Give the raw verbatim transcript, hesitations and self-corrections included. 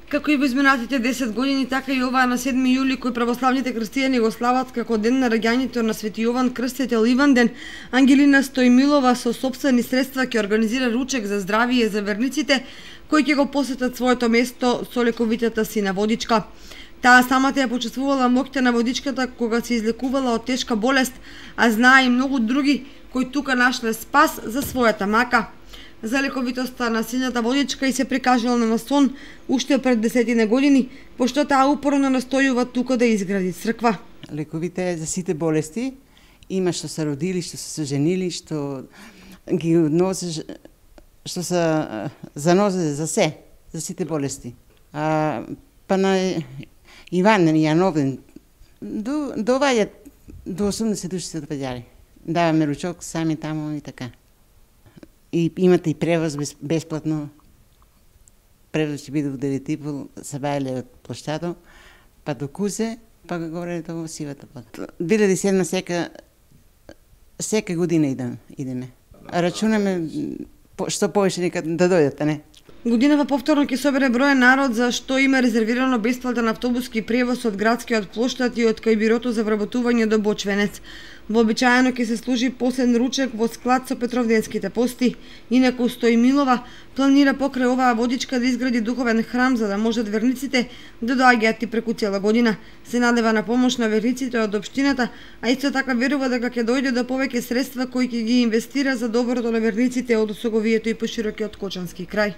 Како и во изминатите десет години, така и оваа на седми јули, кој православните христијани го слават како ден на раѓањето на Свети Јован Крстител Иванден, Ангелина Стојмилова со сопствени средства ќе организира ручек за здравие за верниците кои ќе го посетат своето место со лековитата сина водичка. Таа самата ја почувствувала моќта на водичката кога се излекувала од тешка болест, а знае и многу други кои тука нашле спас за својата мака. За лековитоста на сината водичка и се прикажала на сон уште пред десетина години, пошто таа упорно настојува тука да изгради црква. Лековите е за сите болести, има што се родили, што се женили, што ги носи, што се занозе за се, за сите болести. А, па на Иван Јановен до доваѓа до осумдесет души се доваѓали. Даваме ручок сами таму и така. И имате и превоз без, бесплатно. Превоз ќе биде во девет и по, се бајале од площадо, па до Кузе, па горе до Сивата вода. две илјади и седма сека, сека година идем, идеме. Рачунаме што повеќе нека да дојдат, а не? Годинава повторно ќе собере број народ за што има резервирано бесплатен автобуски превоз од градскиот плоштад и од кај бирото за вработување до Бочвенец. Вообичаено ќе се служи последен ручек во склад со Петровденските пости. Инаку Стојмилова планира покрај оваа водичка да изгради духовен храм за да можат верниците да доаѓаат и преку цела година. Се надева на помош на верниците од општината, а исто така верува дека ќе дојде до повеќе средства кои ќе ги инвестира за доброто на верниците од Осоговието и поширокиот Кочански крај.